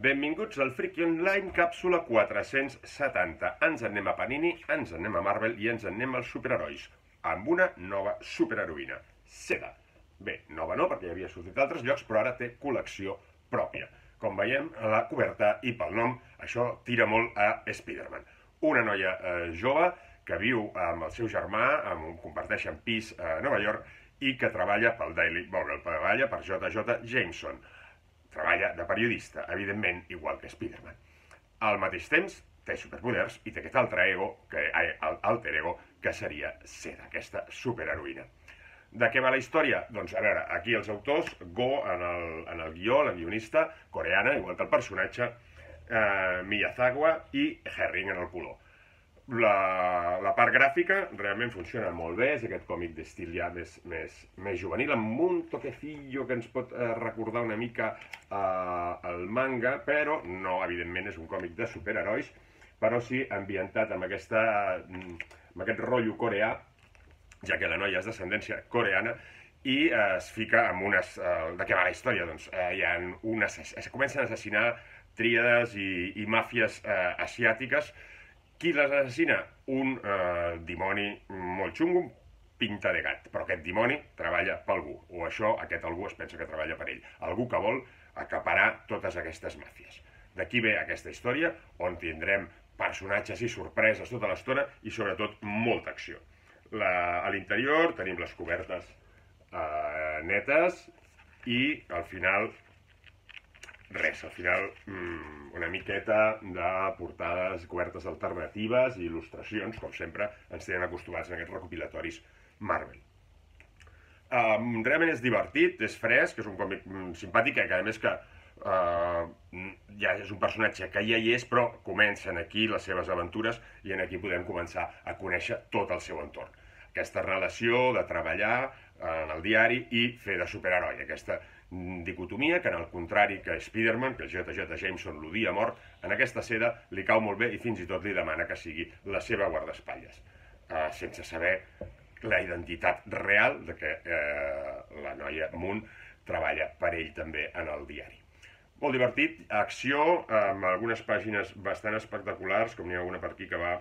Benvinguts al Friki Online, càpsula 470. Ens en anem a Panini, ens en anem a Marvel i ens en anem als superherois, amb una nova superheroïna, Seda. Bé, nova no, perquè ja havia sortit d'altres llocs, però ara té col·lecció pròpia. Com veiem a la coberta i pel nom, això tira molt a Spider-Man. Una noia jove que viu amb el seu germà, comparteixen pis a Nova York, i que treballa pel Daily Bugle, treballa per J.J. Jameson. Treballa de periodista, evidentment, igual que Spider-Man. Al mateix temps, té superpoders i té aquest alter ego, que seria Seda, aquesta superheroïna. De què va la història? Doncs, a veure, aquí els autors, Go en el guió, la guionista, coreana, igual que el personatge, Miyazawa i Herring en el color. La part gràfica realment funciona molt bé, és aquest còmic d'estil ja més juvenil, amb un toquecillo que ens pot recordar una mica el manga, però no, evidentment, és un còmic de superherois, però sí ambientat amb aquest rotllo coreà, ja que la noia és d'ascendència coreana, i es fica amb unes... De què va la història? Doncs es comencen a assassinar tríades i màfies asiàtiques. Qui les assassina? Un dimoni molt xungo, pinta de gat. Però aquest dimoni treballa per algú, o aquest algú es pensa que treballa per ell. Algú que vol acaparar totes aquestes màfies. D'aquí ve aquesta història, on tindrem personatges i sorpreses tota l'estona i sobretot molta acció. A l'interior tenim les cobertes netes i al final res, al final una miqueta de portades cobertes alternatives i il·lustracions, com sempre ens tenen acostumats en aquests recopilatoris Marvel. Realment és divertit, és fresc, és un còmic simpàtic, que a més que ja és un personatge que ja hi és, però comencen aquí les seves aventures i aquí podem començar a conèixer tot el seu entorn. Aquesta relació de treballar en el diari i fer de superheroi, aquesta dicotomia que, en el contrari que Spider-Man, que J.J. Jameson l'odia a mort, en aquesta Seda li cau molt bé i fins i tot li demana que sigui la seva guardaespatlles, sense saber la identitat real de que la noia Moon treballa per ell també en el diari. Molt divertit, acció, amb algunes pàgines bastant espectaculars, com n'hi ha una per aquí que va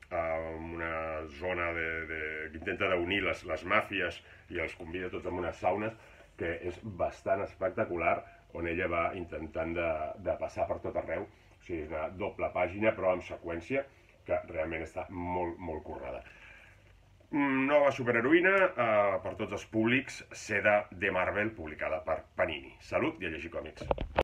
a una zona que intenta d'unir les màfies i els convida tots en unes saunes, que és bastant espectacular, on ella va intentant de passar per tot arreu. O sigui, és una doble pàgina, però en seqüència, que realment està molt, molt currada. Nova superheroïna per tots els públics, Seda de Marvel, publicada per Panini. Salut i a llegir còmics.